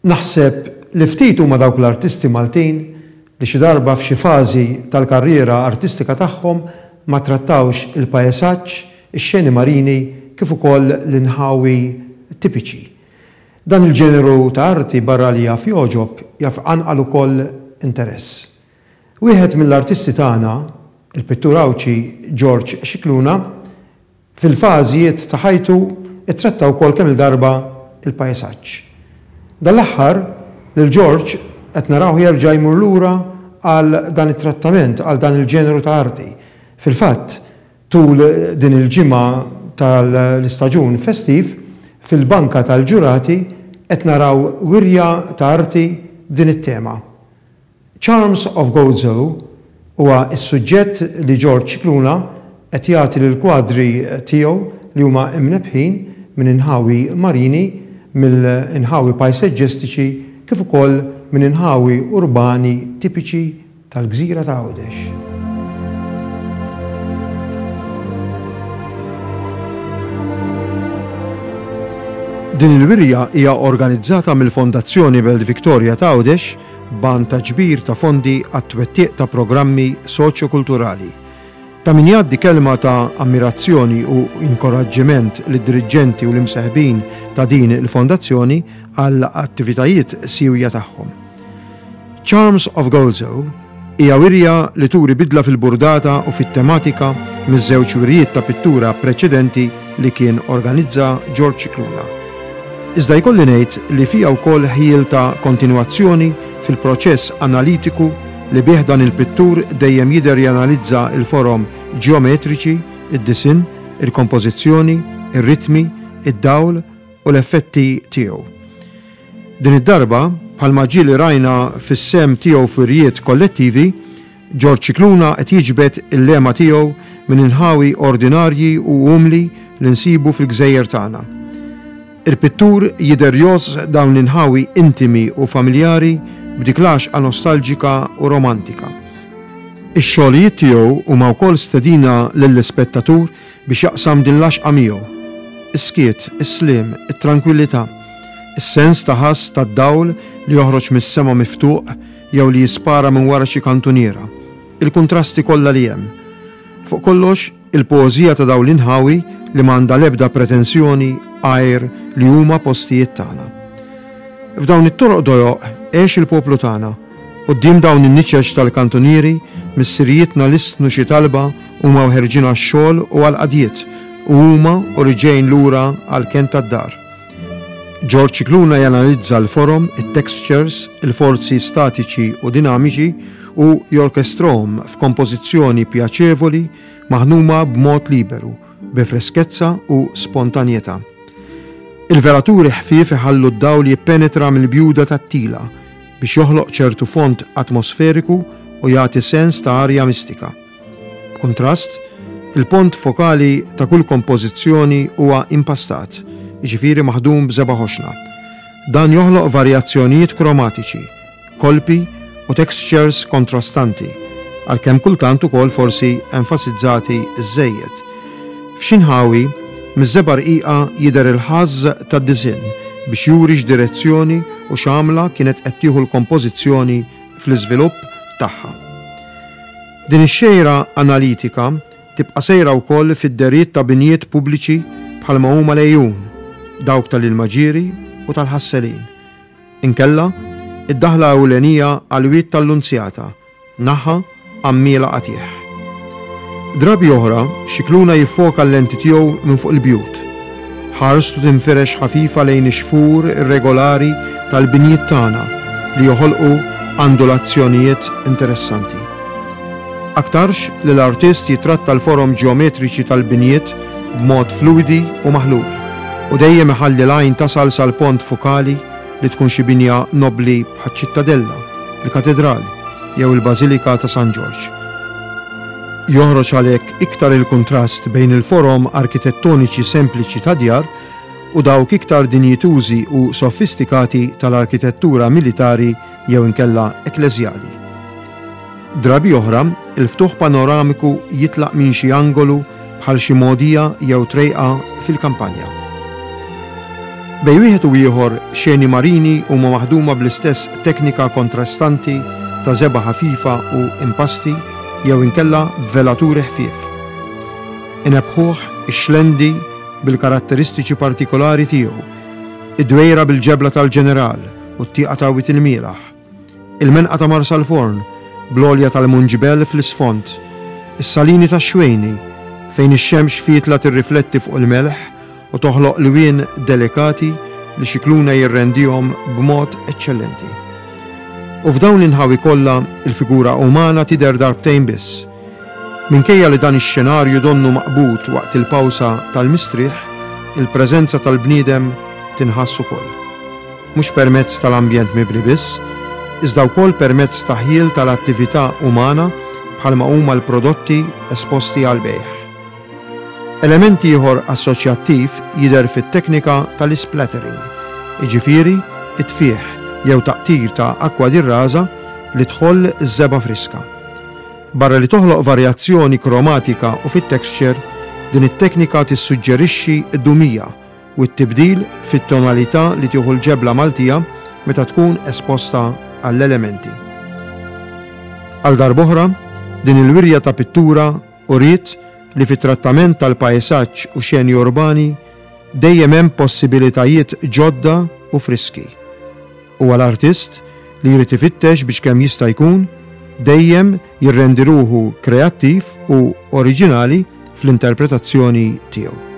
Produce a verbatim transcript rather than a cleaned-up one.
Naħseb li ftit huma dawk l-artisti Maltin li xi darba f'xi fażi tal-karriera artistika tagħhom ma trattawx il-pajsaġġ, ix-xeni marini kif ukoll l-inħawi tipiċi. Dan il-ġeneru ta' arti barra li jaf jogħġob jaf iqanqal ukoll interess. Wieħed mill-artisti tagħna, il-pittur Għawdxi George Scicluna, fil-fażijiet ta' ħajtu ittratta wkoll kemm il-darba il-pajsaġġ. Dan l-aħħar lil George qed naraw jerġa' jmur lura għal dan it-trattament, għal dan il-ġeneru ta' arti. Fil-fatt, tul din il-ġimgħa tal-istaġun festiv, fil-banka tal-ġurati qed naraw wirja ta' arti b'din it-tema. Charms of Gozo huwa s-suġġett li George Scicluna qed jagħti lil kwadri tiegħu li huma imnebħin minn inħawi marini, mill-inħawi pajsaġġistiċi kif ukoll minn inħawi urbani tipiċi tal-gżira ta' Għawdex. Din il-wirja hija organizzata mill-Fondazzjoni Belt Victoria ta' Għawdex b'għan ta' ġbir ta' fondi għat-twettiq ta' programmi soċjokulturali. Ta' min jgħaddi kelma ta' ammirazzjoni u inkoraġġiment lid-diriġenti u l-imseħbin ta' din il-fondazzjoni għall attivitajiet siwja tagħhom. Charms of Gozo hija wirja li turi bidla fil-burdata u fit-tematika miż-żewġ wirjiet ta' pittura preċedenti li kien organizza George Scicluna. Iżda jkolli ngħid li fija wkoll ħjiel ta' kontinwazzjoni fil-proċess analitiku li bih dan il-pittur dejjem jidher janalizza il-forom ġeometriċi, id-disinn, il-kompożizzjoni, ir-ritmi, id-dawl u l-effetti tiegħu. Din id-darba, bħalma ġieli rajna fis-sem tiegħu f'wirjiet kollettivi, George Scicluna qed jiġbed il-lema tiegħu minn inħawi ordinarji u umli li nsibu fil-gżejjer tagħna. Il-pittur jidher jgħożż dawn l-inħawi intimi u familjari b'dik l-għaxqa nostalġika u romantika. Ix-xogħlijiet tiegħu huma wkoll stedina lill-ispettatur biex jaqsam din l-għaxqa miegħu. Is-skiet, is-sliem, it-trankwillità, is-sens ta' ħass tad-dawl li joħroġ mis-sema miftuq jew li jispara minn wara xi kantuniera, il-kuntrasti kollha li hemm. Fuq kollox, il-poeżija ta' dawn l-inħawi li m'għandha l-ebda pretensjoni għajr li huma postijiet tagħna. F'dawn it-toroq dojoq għex il-poplu tagħna, quddiem dawn in-niċeċ tal-kantunieri missirijietna listnu xi talba huma ħerġin għax-xogħol u għall-qadjiet u huma u riġejn lura għall-kenn tad-dar. George Scicluna janalizza l-forom, it-textures, il-forzi statiċi u dinamiċi u jorkestrahom f'kompożizzjoni pjaċevoli maħnuma b'mod liberu, bi freskezza u spontanjetà. Il-velaturi ħfief iħallu d-dawl jippenetra mill-bjuda tat-tila biex joħloq ċertu font atmosferiku u jagħti sens ta' arja mistika. B'kuntrast, il-pont fokali ta' kull kompożizzjoni huwa impastat, jiġifieri maħdum b'żebgħa ħoxna. Dan joħloq varjazzjonijiet kromatiċi, kolpi u textures kontrastanti, għalkemm kultant ukoll forsi enfasizzati żejjed. F'xi nħawi, miż-żebgħa rqiqa jidher il-ħażż tad-disinn biex juri x'direzzjoni u x'għamla kienet qed tieħu l-kompożizzjoni fl-iżvilupp tagħha. Din ix-xejra analitika tibqa' sejra wkoll fid-deriet ta' binjiet pubbliċi bħalma huma l-għejun, dawk tal-ilmaġieri u tal-ħasselin. Inkella, id-daħla ewlenija għall-wied tal-Lunzjata, naħa għammiela qatih. Drabi oħra, Scicluna jiffoka l-lenti tiegħu minn fuq il-bjut. Ħarstu tinfirex ħafifa lejn ix-xfur irregolari tal-binjiet tagħna li joħolqu andulazzjonijiet interessanti. Aktarx li l-artist jitratta l-forom ġeometriċi tal-binjiet b'mod fluidi u maħlul, u dejjem iħalli l-għajn tasal sal-pont fokali li tkun xi binja nobli bħaċ-Ċittadella, il-Katedral jew il-Bażilika ta' San Ġorġ. Joħroġ għalhekk iktar il-kuntrast bejn il-forom arkitettoniċi sempliċi ta' djar u dawk iktar dinjitużi u sofistikati tal-arkitettura militari jew inkella ekkleżjali. Drabi oħra, il-ftuħ panoramiku jitlaq minn xi angolu bħal xi mogħdija jew trejqa fil-kampanja. Bejn wieħed u ieħor xeni marini huma maħduma bl-istess teknika kontrastanti ta' żebgħa ħafifa u impasti jew inkella b'velaturi ħfief. Inebbħuh ix-Xlendi bil-karatteristiċi partikolari tiegħu, id-Dwejra bil-ġebla tal-Ġeneral u t-tieqa ta' Wied il-Mielaħ, il-Menqa ta' Marsalforn bl-għolja tal-Munġbel fl-isfond, is-Salini tax-Xwejni fejn ix-xemx fietla tirrifletti fuq il-melħ u toħloq lwien delikati li Scicluna jirrendihom b'mod eċċellenti. U f'dawn l-inħawi kollha il-figura umana tidher darbtejn biss. Minkejja li dan ix-xenarju donnu maqbud waqt il-pawsa tal-mistrieħ, il-preżenza tal-bniedem tinħass ukoll. Mhux permezz tal-ambjent mibni biss, iżda wkoll permezz ta' ħjiel tal-attività umana bħalma huma l-prodotti esposti għall-bejgħ. Element ieħor assoċjattiv jidher fit-teknika tal-splattering, jiġifieri it-tfieħ jew taqtir ta' akwa di rasa li tħoll iż-żebgħa friska. Barra li toħloq varjazzjoni kromatika u fit-texture, din it-teknika tissuġġerixxi d-dumija u t-tibdil fit-tonalità li tieħu l-ġebla Maltija meta tkun esposta għall-elementi. Għal darb'oħra, din il-wirja ta' pittura uriet li fit-trattament tal-pajsaġġ u xeni urbani dejjem hemm possibilitajiet ġodda u friski. U għall-artist li jrid ifittex biex kemm jista' jkun dejjem jirrendi ruħu kreattiv u oriġinali fl-interpretazzjoni tiegħu.